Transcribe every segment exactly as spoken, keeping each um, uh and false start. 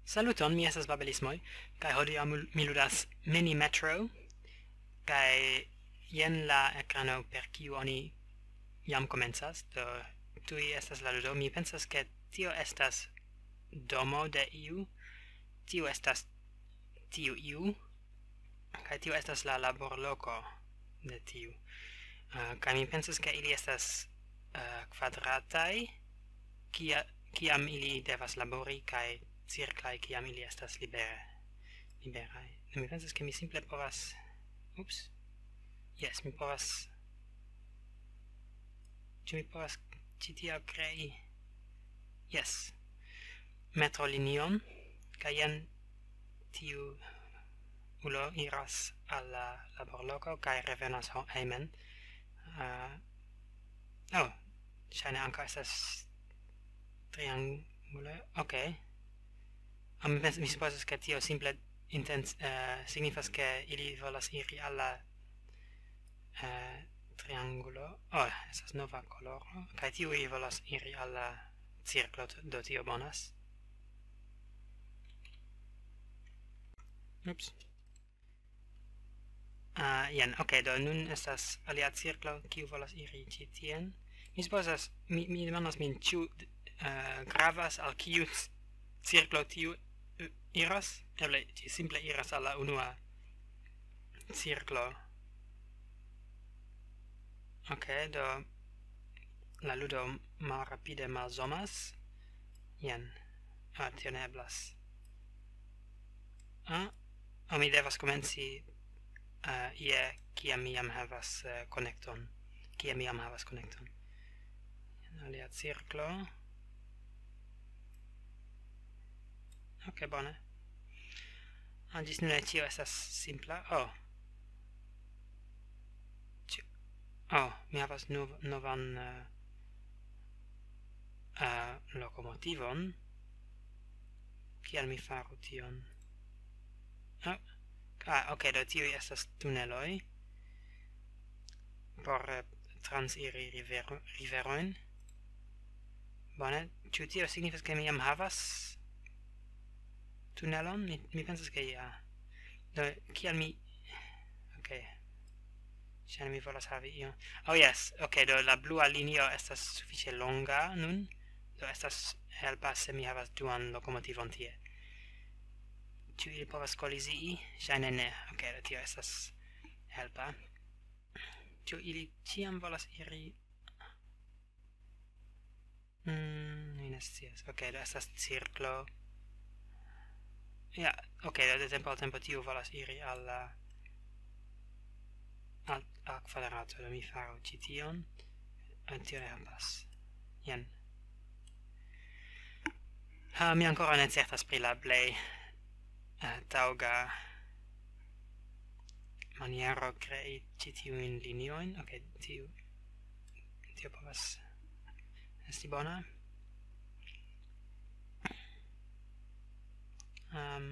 Saluton, mi estas Babelismoj, kaj hodiaŭ mi ludas Mini Metro, kaj jen la ekrano per kiu oni jam komencas, do tuj estas la ludo. Mi pensas, ke tio estas domo de iu, tio estas tiu iu, kaj tio estas la laborloko de tiu. Uh, kaj mi pensas, ke ili estas uh, kvadrataj, kia, kiam ili devas labori, kaj cirklaj, kiam ili estas libere, liberaj. Mi pensas, ke mi simple povas... Ups. Yes, mi povas... Ĉu mi povas ĉi tia krei? Yes. Metro linion, kaj jen tiu ulo iras al la laborloko kaj revenas hejmen. Uh, oh, ŝajne ankaŭ estas triangulo. Ok. Ah, mi, mi supozas, ke tio simple intens, uh, signifas, ke ili volas iri al la uh, triangulo. Oh, estas nova koloro. Kaj tiuj volas iri al la cirklo, do tio bonas. Ups. Uh, jen, ok, do nun estas alia cirklo, kiu volas iri ĉi tien. Mi supozas, mi, mi demandas min, ĉu uh, gravas al kiu cirklo tiu uh, iras? Eble ĝi simple iras al la unua cirklo. Ok, do la ludo malrapide malzomas. Jen. Ah, tio ne eblas. Ah, oh, mi devas komenci uh, ie, kiam mi jam havas uh, konekton. Kiam mi jam havas konekton. Alia cirklo. Ok, bone. Ah, ĝis nun ĉio estas simpla. Oh. Oh, mi havas nov novan uh, uh, lokomotivon. Kial mi faru tion? Oh. Ah, ok, do tiuj estas tuneloj por uh, transiri rivero, riverojn. Bone, ĉu tio signifas, ke mi jam havas tunelon? Mi, mi pensas, ke ja. Do, kial mi... Ok. Ŝajne mi volas havi ion. Oh, yes. Ok, do la blua linio estas sufiĉe longa nun. Do estas helpa, se mi havas duan lokomotivon tie. Ĉu ili povas kolizii? Ŝajne ne. Ok, do tio estas helpa. Ĉu ili ĉiam volas iri? Mm, mi ne scias. Ok, do estas cirklo. Ja, ok, do de tempo al tempo tiu volas iri al la... al, al kvadrato, do mi faru ĉi tion. Tio ne helpas. Jen. Uh, mi ankoraŭ ne certas pri la plej uh, taŭga maniero krei ĉi tiujn liniojn. Ok, tiu, tio povas esti bona. Um,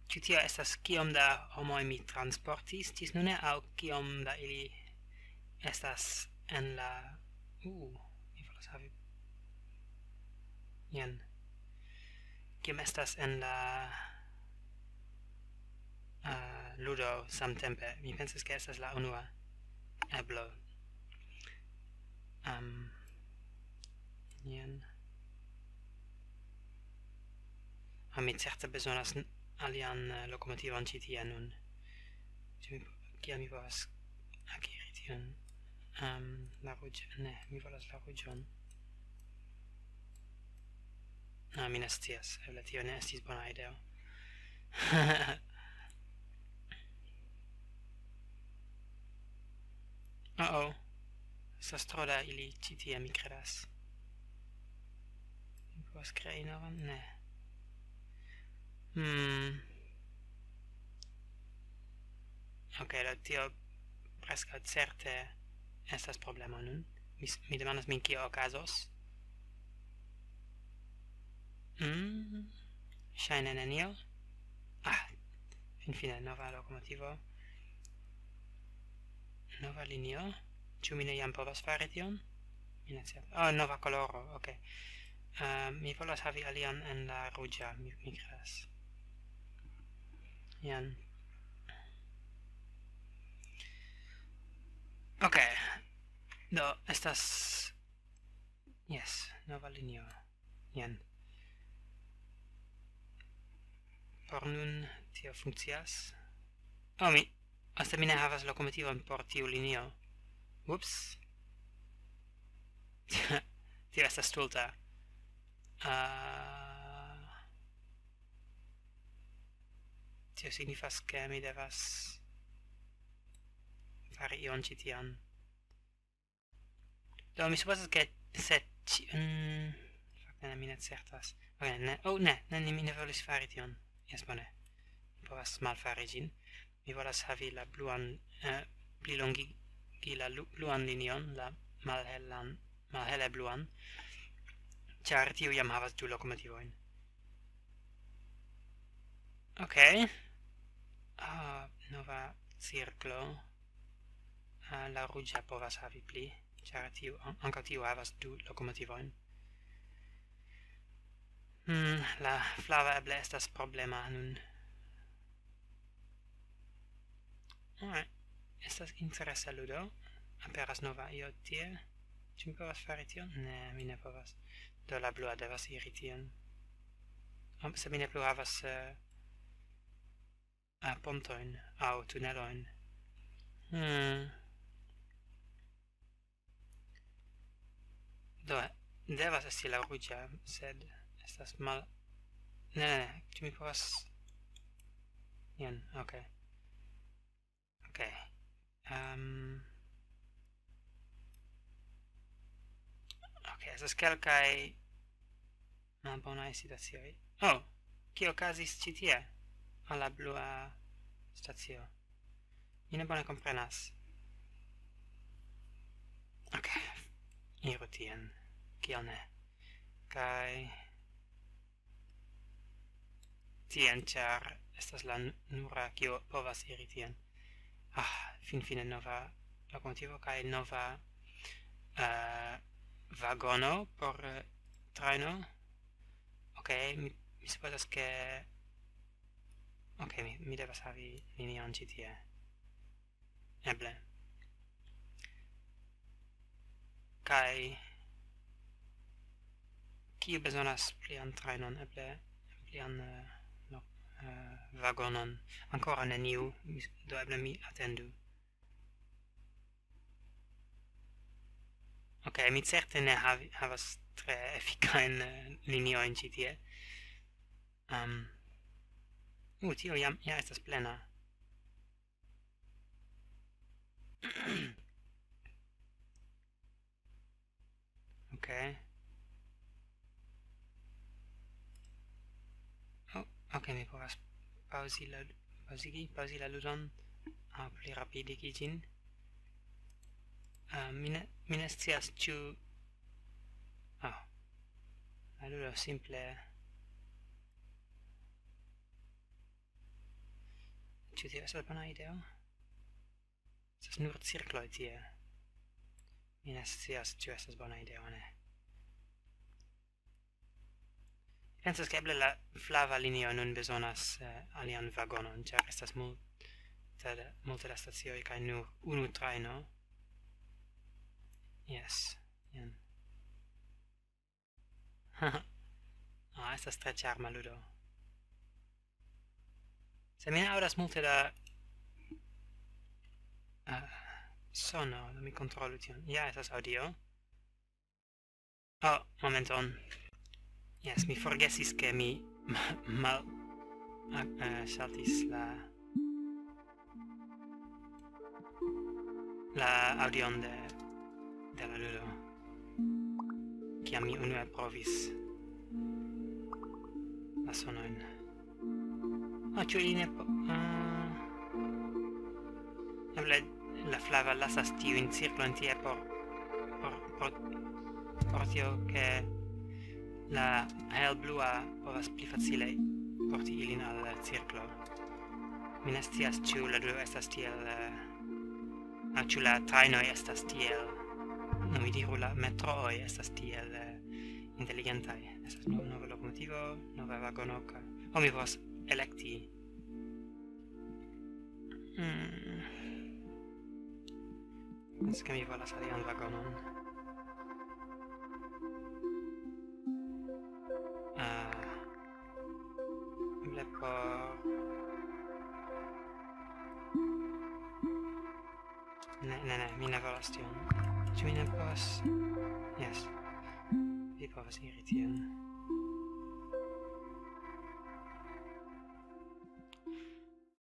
ĉu tio estas kiom da homoj mi transportis ĝis nune, aŭ kiom da ili estas en la... Uh, mi volas havi... Jen. Kiom estas en la uh, ludo samtempe? Mi pensas, ke estas la unua eblo. Um, jen. Ah, mi certe bezonas alian uh, lokomotivon ĉi tie nun. Kiel mi povas akiri tion? Um, la ruĝa... Ne, mi volas la ruĝon. Ah, mi ne scias. Eble tio ne estis bona ideo. Oh, oh. Estas tro da ili ĉi tie, mi kredas. Mi povas krei novan? Ne. Hmm. Ok, do tio preskaŭ certe estas problemo nun. Mi, mi demandas min, kio okazos. Hmm. Ŝajne nenio. Ah, finfine, nova lokomotivo. Nova linio. Ĉu mi ne jam povas fari tion? Mi ne scias. Oh, nova koloro, ok. Uh, mi volas havi alian en la ruĝa, mi, mi kredas. Jen. Ok. Do, estas... Jes, nova linio. Jen. Por nun tio funkcias. Oh, mi... Aste mi ne havas lokomotivon por tiu linio. Ups. Tio estas stulta. Uh, tio signifas, ke mi devas fari ion ĉi tion. Do, mi supozas, ke se ĉi... Mm, fakte, ne, mi ne certas. Ok, ne, oh, ne, ne, mi ne volis fari tion. Jes, bone. Mi povas malfari ĝin. Mi volas havi la bluan, eh, pli longigi la lu- bluan linion, la malhelan, malhele bluan, ĉar tiu jam havas du lokomotivojn. Ok. Ah, nova cirklo. Ah, la ruĝa povas havi pli, ĉar tiu, an- ankaŭ tiu havas du lokomotivojn. Hmm, la flava eble estas problema nun. Alright. Estas interesa ludo. Aperas nova io tie. Ĉu mi povas fari tion? Ne, mi ne povas. Do la blua devas iri tien. Am, se mi ne plu havas, eh, eh, pontojn aŭ tunelojn. Hmm. Do, devas esti la ruĝa, sed estas mal... Ne, ne, ne, ĉu mi povas... Jen, ok. Ok. Um, ok, estas kelkaj malbonaj situacioj. Oh, kio okazis ĉi tie? Al la blua stacio. Mi ne bone komprenas. Ok. Iru tien. Kiel ne? Kaj tien, ĉar estas la n- nura, kio povas iri tien. Ah, finfine nova lokomotivo kaj nova, eh, vagono por, eh, trajno. Ok, mi, mi supozas, ke... Ok, mi, mi devas havi linion ĉi tie. Eble. Kaj kiu bezonas plian trajnon, eble plian, eh, no, eh, vagonon? Ankoraŭ neniu, mi s- do eble mi atendu. Ok, mi certe ne havi- havas tre efikajn, eh, liniojn ĉi tie. Um, uh, tio jam ja estas plena. Ok. Oh, ok, mi povas paŭzi la, paŭzigi, paŭzi la ludon, aŭ pli rapidigi ĝin. Ah, mi ne, mi ne scias, ĉu... Ah. La ludo simple... Ĉu tio estas bona ideo? Estas nur cirkloj tie. Mi ne scias, ĉu estas bona ideo aŭ ne. Mi pensas, ke eble la flava linio nun bezonas, eh, alian vagonon, ĉar estas multe da, multe da stacioj kaj nur unu trajno. Jes, jen. Ah, estas tre ĉarma ludo. Se mi ne aŭdas multe da, ah, sono, do mi kontrolu tion. Ja, estas aŭdio. Oh, momenton. Jes, mi forgesis, ke mi ma- mal... ah, eh, saltis la... la aŭdion de, de la ludo. Kiam mi unue provis la sonojn. Ah, ĉu ili ne po- ah. Eble la flava lasas tiujn cirklojn tie por, por, por, por tio, ke la helblua povas pli facile porti ilin al la cirklo. Mi ne scias, ĉu la ludo estas tiel, eh, aŭ ĉu la trajnoj estas tiel, no, mi diru, la metrooj estas tiel, eh, Inteligentaj. Estas no-, nova lokomotivo, nova vagono, kaj... Oh, mi povas elekti. Hmm. Pensas, ke mi volas alian vagonon. Ah. Eble por... Ne, ne, ne, mi ne volas tion. Ĉu mi ne povas? Jes. Vi povas iri tien.